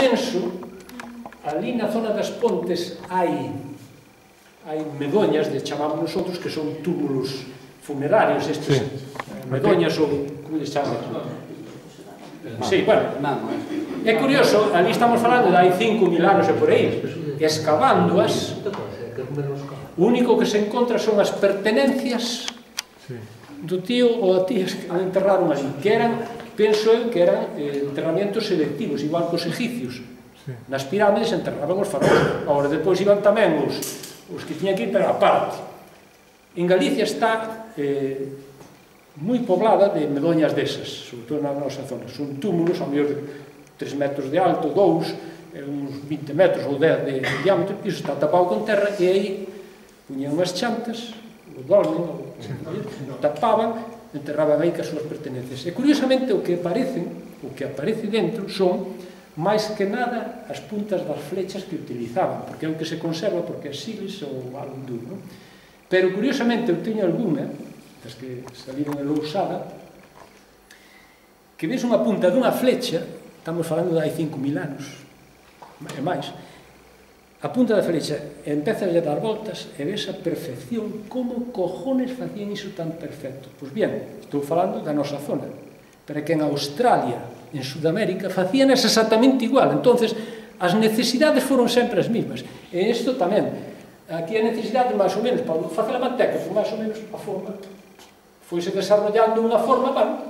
penso, ali na zona das Pontes hai medoñas, chamamos nosotros, que son túmulos funerarios, estes medoñas ou como les chamamos? Sí, bueno, é curioso, ali estamos falando de hai 5.000 anos e por aí, escavándoas, o único que se encontra son as pertenencias do tío ou a tías que enterraron ali, que eran, penso eu, que eran enterramientos selectivos, igual que os egipcios. Nas pirámides enterraban os faraóns, agora depois iban tamén os que tiñan que ir, pero aparte. En Galicia está moi poblada de medoñas desas, sobre todo na nosa zona. Son túmulos, ao mellor de 3 metros de alto, 2, uns 20 metros ou 10 de diámetro, e iso está tapado con terra, e aí puñan unhas chantas, o dolmen, tapaban, enterraban aí que as súas pertenencias. E curiosamente o que aparece dentro son máis que nada as puntas das flechas que utilizaban, porque é o que se conserva, porque é siles ou algo duro. Pero curiosamente eu teño alguna, das que saliron en Lousada, que ves unha punta dunha flecha, estamos falando de hai 5.000 anos, e máis, a punta da flecha empeza a dar voltas e ves a perfección, como cojones facían iso tan perfecto. Pois bien, estou falando da nosa zona, pero que en Australia, en Sudamérica, facían exactamente igual. Entonces, as necesidades foron sempre as mismas. E isto tamén, aquí a necesidade, máis ou menos, para facer a manteca, foi máis ou menos a forma, foise desarrollando unha forma, bueno,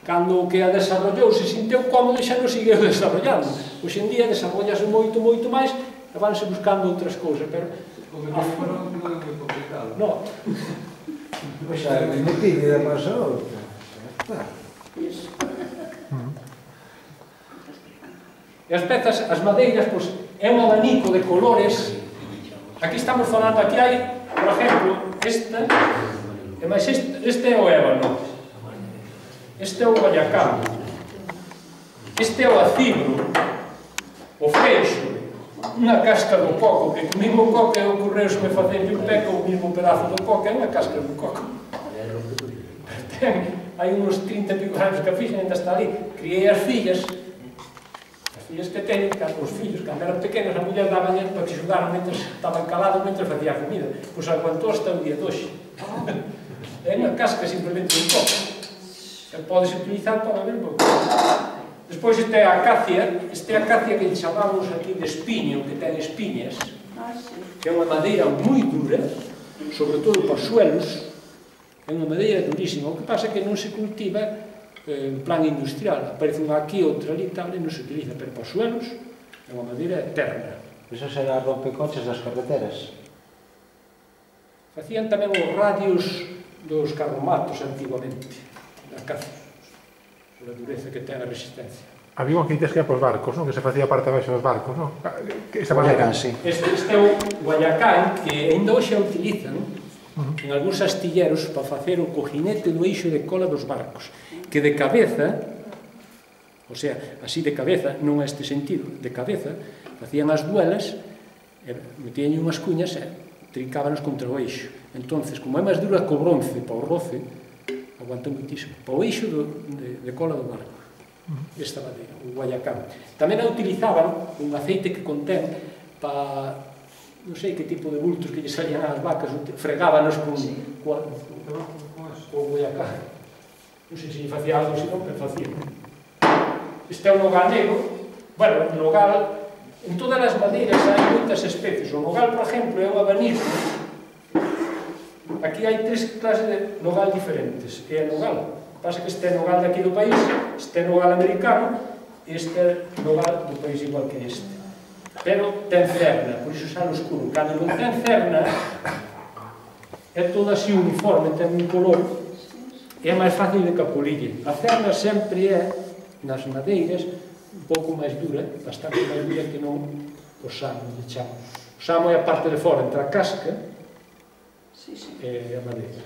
cando que a desarrollou se sinteu cómodo e xa non seguiu desarrollando. Hoxe en día desarrollase moito, moito máis, e vanse buscando outras cousas, pero... Porque non é moi complicado. Non. Pois xa, me pide de paso, está. E as pezas, as madeiras, pois, é un abanico de colores. Aquí estamos falando, aquí hai, por exemplo, esta, e máis este é o ébano, este é o guayacán, este é o acibro, o freixo, unha casca do coco, que o mismo coco é o correusme facerlle un peco, o mismo pedazo do coco é unha casca do coco. Hai uns 30 e pico anos que a fixen, ainda está ali, criei as fillas que teñen, os fillos, cando eran pequenos, a muller daba dinero para que xugaran mentre estaban calados, mentre facía a comida. Pois aguantou hasta o día de hoxe. É unha casca simplemente un coco. E podes utilizar para ver un pouco. Despois este é a acacia, que chamamos aquí de espiño, que ten espiñas, que é unha madeira moi dura, sobre todo para suelos, é unha madeira durísima. O que pasa é que non se cultiva en plan industrial, aparece unha aquí, outra ali, tal, e non se utiliza, pero para suelos é unha madeira eterna. Eso será rompecoches das carreteras. Facían tamén os radios dos carromatos antigamente, da caza, pola dureza que ten a resistencia. Había unha que dices que era pos barcos, non? Que se facía parte abaixo dos barcos, non? Guayacán, sí. Este é o guayacán, que ainda hoxe utilizan en algúns astilleros para facer o cojinete do eixo de cola dos barcos, que de cabeza, o sea, así de cabeza, non a este sentido, de cabeza, facían as duelas, metían unhas cuñas e trincábanos contra o eixo. Entonces, como é máis dura co bronce para o roce, aguanta muitísimo. Para o eixo de cola do barco, esta madeira, o guayacán. Tamén a utilizaban un aceite que contén para... non sei que tipo de bultos que lle salían ás vacas, fregábanos con o guayacán. Non sei se lle facía algo, senón, pero facía. Este é o nogal negro. Bueno, o nogal, en todas as madeiras hai moitas especies. O nogal, por exemplo, é un abanico. Aquí hai 3 clases de nogal diferentes. É nogal. O que pasa é que este é nogal de aquí do país, este é nogal americano, e este é nogal do país igual que este. Pero ten cerna, por iso xa no escuro. Cando non ten cerna, é todo así uniforme, ten un color, é máis fácil de capolille. A cerna sempre é, nas madeiras, un pouco máis dura, bastante máis dura que non o samo, de chamo. O samo é a parte de fora, entre a casca e a madeira.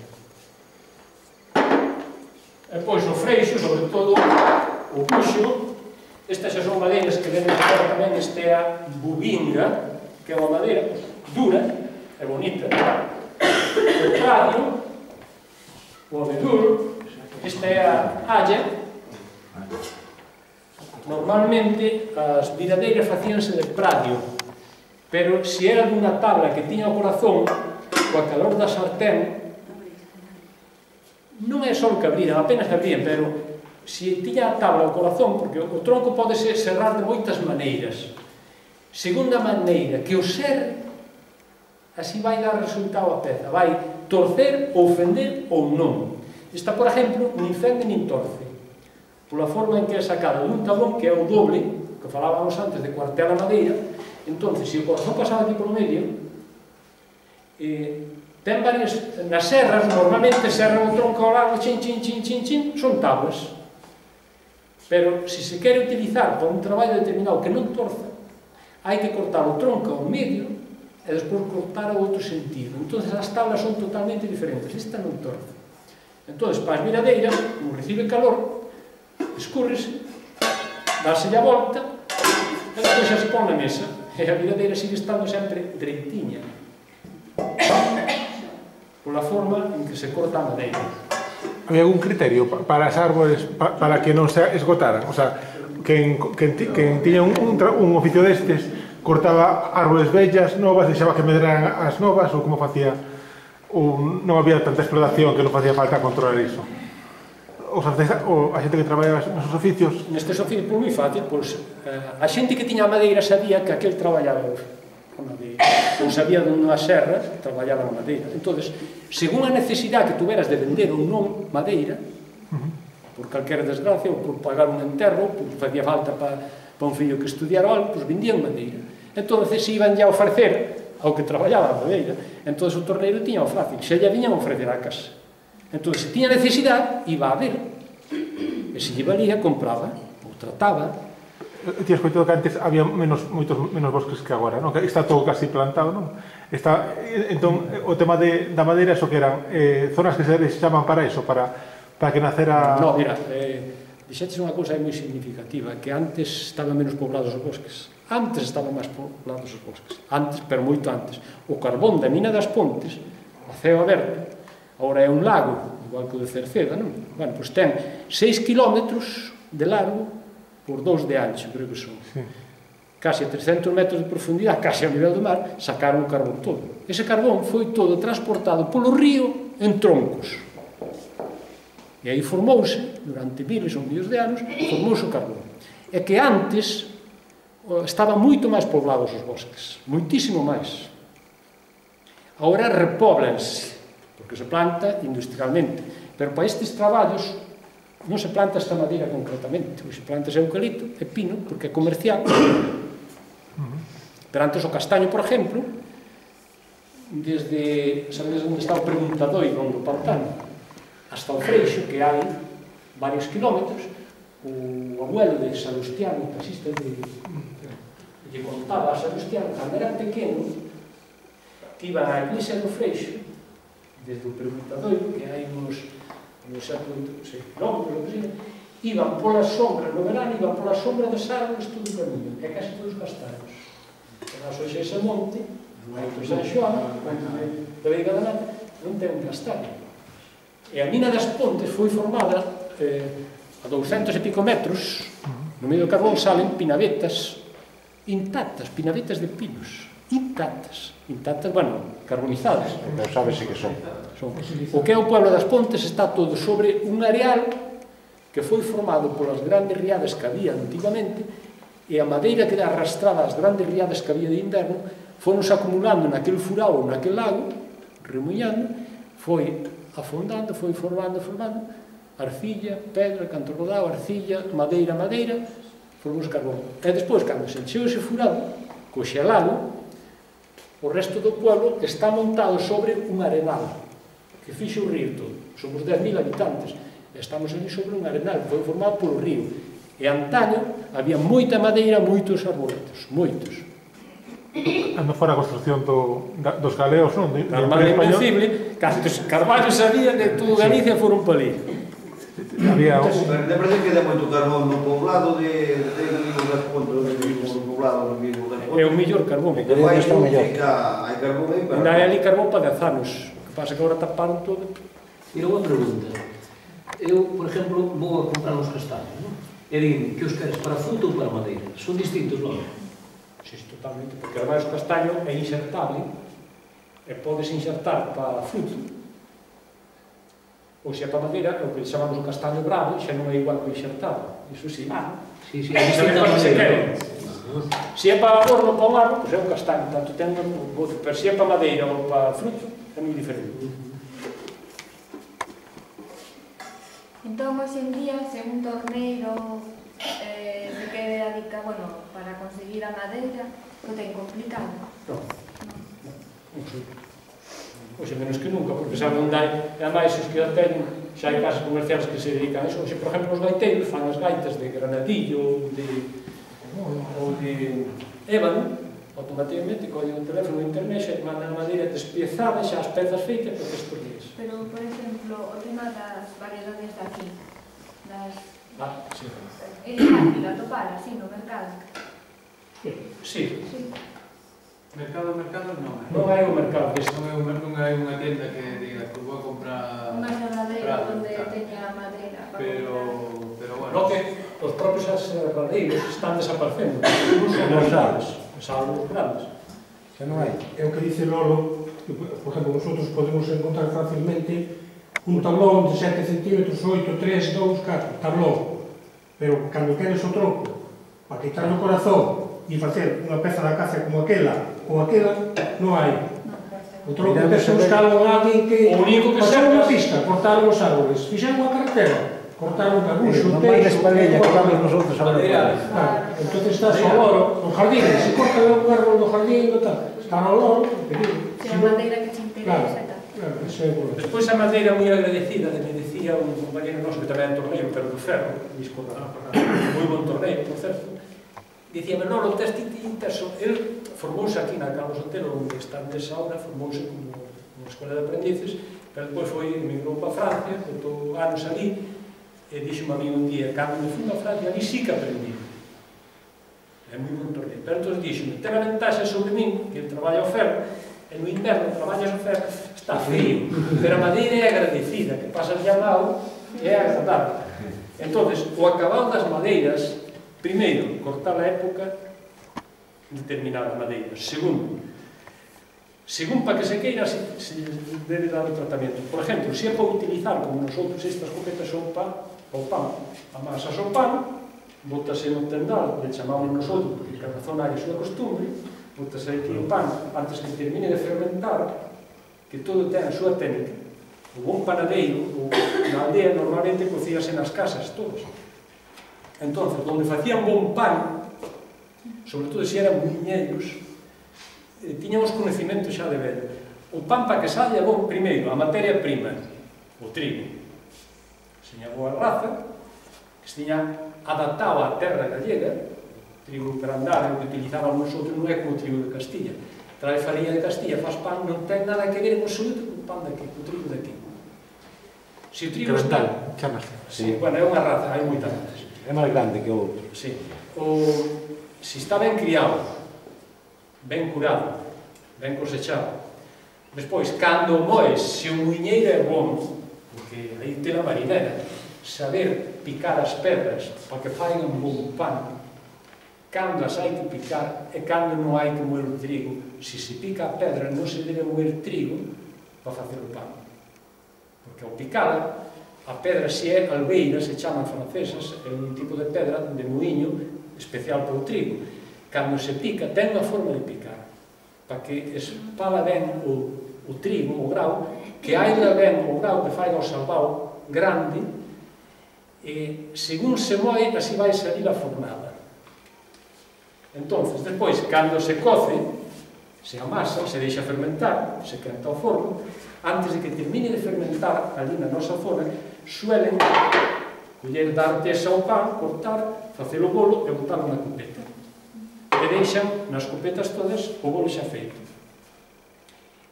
E pois o freixo, sobre todo o buxo. Estas xa son madeiras que ven fora tamén. Este é a bubinga, que é unha madeira dura e bonita. O tradio, o abedul. Esta é a halla. normalmente as viradeiras facíanse de pradio, pero se era dunha tabla que tiña o corazón, coa calor da sartén, non é só que abrían, apenas abrían, pero se tiña a tabla o corazón, porque o tronco pode serrar de moitas maneiras. Segunda maneira, que o serre, así vai dar resultado a peza, vai torcer ou fender ou non. Esta, por exemplo, nin fende nin torce, pola forma en que é sacada dun tablón que é o doble, que falábamos antes de cuartear a madeira. Entonces, se o corazón pasaba aquí polo medio, ten varias, nas serras, normalmente serran o tronco ao lado, chin, chin, chin, chin, chin, son tablas. Pero, se se quere utilizar para un traballo determinado que non torza, hai que cortar o tronco ao medio e despois cortar ao outro sentido. Entón, as tablas son totalmente diferentes. Esta non torce. Entón, para as viradeiras, como recibe calor, escúrrese, dárselle a volta, e despois xa se pon na mesa. E a viradeira sigue estando sempre dreitinha, pola forma en que se corta a madeira. Había algún criterio para as árbores para que non se esgotaran? O sea, quen tiña un oficio destes cortaba árbores vellas, novas, deixaba que medraran as novas, ou como facía? Ou non había tanta explotación que non facía falta controlar iso? A xente que traballaba nesos oficios? Nestes oficios, por moi fácil, pois, a xente que tiña a madeira sabía que aquel traballaba a madeira, ou sabía dunha serra que traballaba a madeira. Entón, según a necesidade que tuveras de vender ou non madeira, por calquera desgracia, ou por pagar un enterro, ou facía falta para un fillo que estudiara algo, pois vendían madeira. Entón, se iban ya a ofrecer ao que traballaba a madeira, entón o torneiro tiña o fácil, xa lle viñan a ofrecer a casa. Entón, se tiña necesidade, iba a ver. E se lle valía, compraba, ou trataba. Ti has coitado que antes había moitos menos bosques que agora, non? Que está todo casi plantado, non? Entón, o tema da madeira, eso que eran zonas que se chaman para eso, para que nacera... Non, mira, dixetes unha cousa moi significativa, que antes estaban menos poblados os bosques. Antes estaban máis poblados os bosques. Antes, pero moito antes. O carbón da mina das Pontes, a ceo aberto, agora é un lago, igual que o de Cerceda, non? Bueno, pois ten 6 kilómetros de largo por 2 de ancho, creo que son. Sí. Casi a 300 metros de profundidade, casi ao nivel do mar, sacaron o carbón todo. Ese carbón foi todo transportado polo río en troncos. E aí formouse, durante miles ou millóns de anos, formouse o carbón. É que antes estaban moito máis poblados os bosques, moitísimo máis. Agora repóblanse, porque se planta industrialmente, pero para estes traballos non se planta esta madeira concretamente, se planta eucalipto e pino, porque é comercial. Pero antes o castaño, por exemplo, desde, sabedes onde está o Preguntadoiro, do pantano, hasta o Freixo, que hai varios kilómetros, o abuelo de Salustiano, o taxista lle contaba a Salustiano, cando era pequeno, que iban á iglesia do Freixo, desde o Preguntadoiro, que hai uns 6 kilómetros, iban pola sombra, no verano, iban pola sombra das árboles todo o camiño, e case todos castaños. Mas hoxe ese monte, no Alto San Xoán, de Veiga da Nata, non ten un castaño. E a mina das Pontes foi formada a 200 e pico metros, no medio do carbón salen pinavetas intactas, pinavetas de pinos, intactas, bueno, carbonizadas. Non sabes se que son. O que é o pueblo das Pontes está todo sobre un areal que foi formado polas grandes riadas que había antigamente, e a madeira que arrastraba as grandes riadas que había de inverno fonos acumulando naquele furao, naquele lago, remuñando, foi afondando, foi formando, arcilla, pedra, canto rodado, arcilla, madeira, formou carbón. E despois, cando se encheu ese furado, co xelado, o resto do pueblo está montado sobre un arenal, que fixo o río todo. Somos 10.000 habitantes, e estamos ali sobre un arenal, que foi formado polo río. E antaño había moita madeira, moitos arboletos, moitos. Ando fora a construcción dos galeos, non? Carvalho Invencible, cantos carballos había de todo Galicia foron para ali. Había Lembra que dá moito carbón no poblado de Vigo das Pontes, no poblado de Vigo das Pontes. É o mellor carbón. Hai carbón aí para... Ainda hai ali carbón para 10 anos. O que pasa que agora taparon todo. E unha pregunta. Eu, por exemplo, vou a comprar uns castaños, non? e din que os queres para fruto ou para madeira. Son distintos, non? Sí, totalmente, porque ademais o castaño é insertable e podes insertar para fruto ou se é para madeira, é o que chamamos o castaño bravo, xa non é igual que o insertado, iso sí. Sí, É distinta madeira. Se é para horno, para un árbol, pois é un castaño, tanto ten un gozo, pero se é para madeira ou para fruto, é moi diferente. Entón, hoxe en día, se un torneiro se quere dedicar, bueno, para conseguir a madeira, o ten complicado. Non. Hoxe menos que nunca, porque sabe onde hai, e ademais os que a teñen, xa hai casas comerciales que se dedican a iso. Hoxe, por exemplo, os gaiteiros fan as gaitas de granadillo ou de ébano, automáticamente collen o teléfono de internet e mandan a madeira despiezada, xa as pezas feitas para estes días. Pero, por exemplo, o tema das variedades de aquí, Sí. é fácil atopar así no mercado. Sí. Mercado non é. Non hai un mercado deste. Non hai unha tienda que diga que vou a comprar... Unha xerradeira Prado, onde claro. teña madeira para Pero comprar. bueno... No que os propios aserradeiros están desaparecendo. Non son os grandes, os árboles grandes. Xa non hai. É o que dice Lolo, que, por exemplo, nosotros podemos encontrar facilmente un tablón de 7 centímetros, 8, 3, 2, 4, tablón. Pero cando queres o troco, para quitar o corazón e facer unha peza da caza como aquela ou aquela, non hai. O troco tens que buscar a alguén que pasou unha pista, cortaron os árboles, fixeron unha carretera, cortaron o cabuxo, o Non vai teixo, despaguella que vamos nosotros a ver. entón estás ao loro, no jardín, se corta un árbol do jardín, está ao loro, Se a madeira que te interesa e tal. claro, eso é bueno. Despois a madeira moi agradecida, me decía un compañero noso que tamén é torneiro, pero do ferro, disco moi bon torneiro, por certo, dicíame, Lolo, tes intenso, el formouse aquí na Carlos Otero, onde está nesa obra, formouse como unha escola de aprendices, pero depois foi, emigrou para Francia, botou anos ali, e dixo-me a mí un día, cando me fui a Francia, ali sí que aprendí. É moi bon torneiro. Pero entón dixo-me, ten a ventaxa sobre min, que traballa o ferro, e no inverno traballas o ferro, está frío, pero a madeira é agradecida, que pasas ya mal, é agradable. Entón, o acabado das madeiras, primeiro, cortar a época de determinada madeira. Segundo, según para que se queira, se debe dar o tratamento. Por exemplo, se é para utilizar, como nosotros, estas copetas son para o pan, amasas o pan, botase no tendal, le chamamos nosotros, porque cada zona hai a súa costumbre, botase aquí o pan, antes que termine de fermentar, que todo ten a súa técnica. O bon panadeiro, na aldea, normalmente cocíase nas casas, todos. Entón, onde facían bon pan, sobre todo se eran muiñeiros, tiñan os conhecimentos xa de velho. O pan para que saia bon, primeiro, a materia prima, o trigo. Seña boa raza, que se tiña adaptado á terra gallega, trigo grandar, o que utilizábamos nosotros non é como o trigo de Castilla. Trae farinha de Castilla, faz pan, non ten nada que ver en absoluto con o pan daqui, co trigo daqui. Se o trigo está... Chamase. Sí, bueno, é unha raza, hai moitas razas. É máis grande que o outro. Sí. Se está ben criado, ben curado, ben cosechado, despois, cando moes, se o muiñeiro é bom, porque aí ten a marinera, saber picar as pedras para que faigan un bon pan, cando as hai que picar e cando non hai que moer o trigo. Se se pica a pedra, non se debe moer trigo para facer o pan. Porque ao picala, a pedra se é albeira, se chaman francesas, é un tipo de pedra de moinho especial para o trigo. Cando se pica, ten unha forma de picar, para que espala ben o trigo, o grau, que aiga ben o grau, que faiga o salvao grande, e según se moe, así vai salir a fornada. Entón, despois, cando se coce, se amasa, se deixa fermentar, se quenta o forno, antes de que termine de fermentar ali na nosa zona, suelen coller dar tesa ao pan, cortar, facer o bolo e botarlo na copeta. E deixan nas copetas todas o bolo xa feito.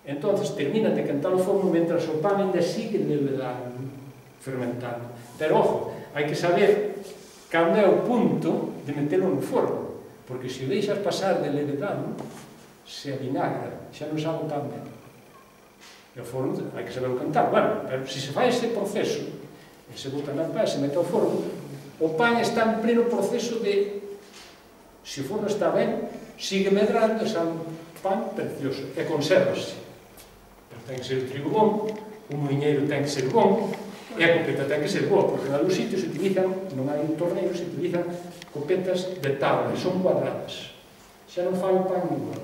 Entón, terminan de quentar o forno mentras o pan ainda sigue levedando, fermentando. Pero, ojo, hai que saber cando é o punto de metelo no forno, porque se o deixas pasar de levedado, se avinagra, xa non sabe tan ben. E o forno, hai que saber o cantar. Bueno, pero se se fai ese proceso, e se bota na pá, se mete ao forno, O pan está en pleno proceso de, se o forno está ben, sigue medrando, é un pan precioso, e consérvase. Pero ten que ser o trigo bon, o muiñeiro ten que ser bon, e a copeta ten que ser boa, porque en algúns sitios se utilizan, non hai un torneiro, se utilizan copetas de tabla, son cuadradas. Xa non fai o pan igual.